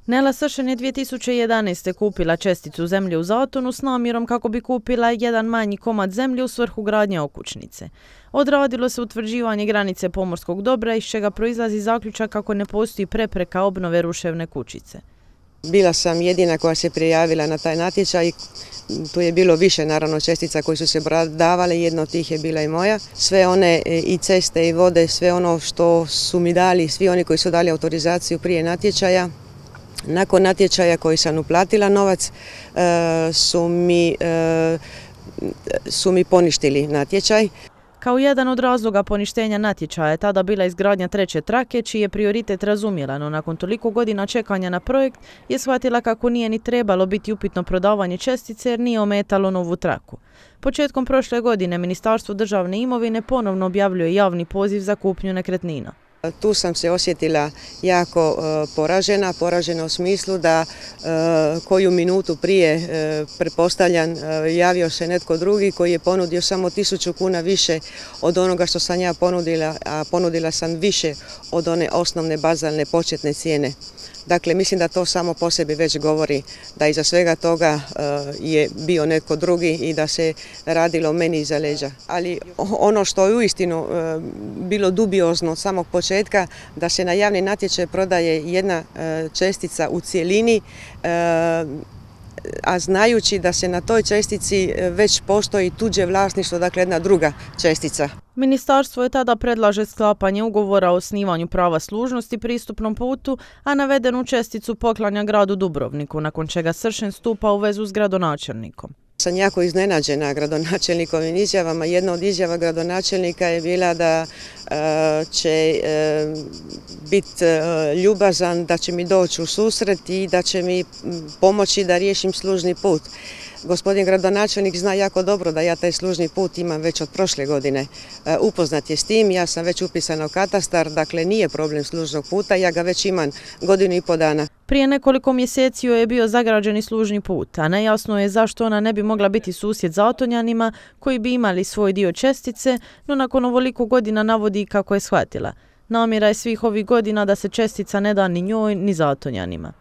Nela Sršen je 2011. kupila česticu zemlje u Zatonu s namjerom kako bi kupila jedan manji komad zemlje u svrhu gradnje okućnice. Odradilo se utvrđivanje granice pomorskog dobra, iz čega proizlazi zaključak kako ne postoji prepreka obnove ruševne kućice. Bila sam jedina koja se prijavila na taj natječaj. Tu je bilo više naravno čestica koji su se davale, jedna od tih je bila i moja. Sve one i ceste i vode, sve ono što su mi dali, svi oni koji su dali autorizaciju prije natječaja, nakon natječaja koji sam uplatila novac, su mi poništili natječaj. Kao jedan od razloga poništenja natječaja je tada bila izgradnja treće trake, čiji je prioritet razumjela, no nakon toliko godina čekanja na projekt je shvatila kako nije ni trebalo biti upitno prodavanje čestice jer nije ometalo novu traku. Početkom prošle godine Ministarstvo državne imovine ponovno objavljuje javni poziv za kupnju nekretnina. Tu sam se osjetila jako poražena u smislu da koju minutu prije, pretpostavljam, javio se netko drugi koji je ponudio samo 1000 kuna više od onoga što sam ja ponudila, a ponudila sam više od one osnovne bazalne početne cijene. Dakle, mislim da to samo po sebi već govori da iza svega toga je bio netko drugi i da se radilo meni iza leđa. Ali ono što je uistinu bilo dubiozno od samog početka, da se na javni natječaj prodaje jedna čestica u cjelini, a znajući da se na toj čestici već postoji tuđe vlasništvo, dakle jedna druga čestica. Ministarstvo je tada predlaže sklapanje ugovora o osnivanju prava služnosti pristupnom putu, a navedenu česticu poklanja gradu Dubrovniku, nakon čega Sršen stupa u vezu s gradonačelnikom. Sam jako iznenađena gradonačelnikovim izjavama. Jedna od izjava gradonačelnika je bila da će biti ljubazan, da će mi doći u susret i da će mi pomoći da riješim služni put. Gospodin gradonačelnik zna jako dobro da ja taj služni put imam već od prošle godine. Upoznat je s tim, ja sam već upisana u katastar, dakle nije problem služnog puta, ja ga već imam 1,5 godina. Prije nekoliko mjeseci joj je bio zagrađeni služni put, a nejasno je zašto ona ne bi mogla biti susjed Zatonjanima koji bi imali svoj dio čestice, no nakon ovoliko godina navodi kako je shvatila. Namjera je svih ovih godina da se čestica ne da ni njoj ni Zatonjanima.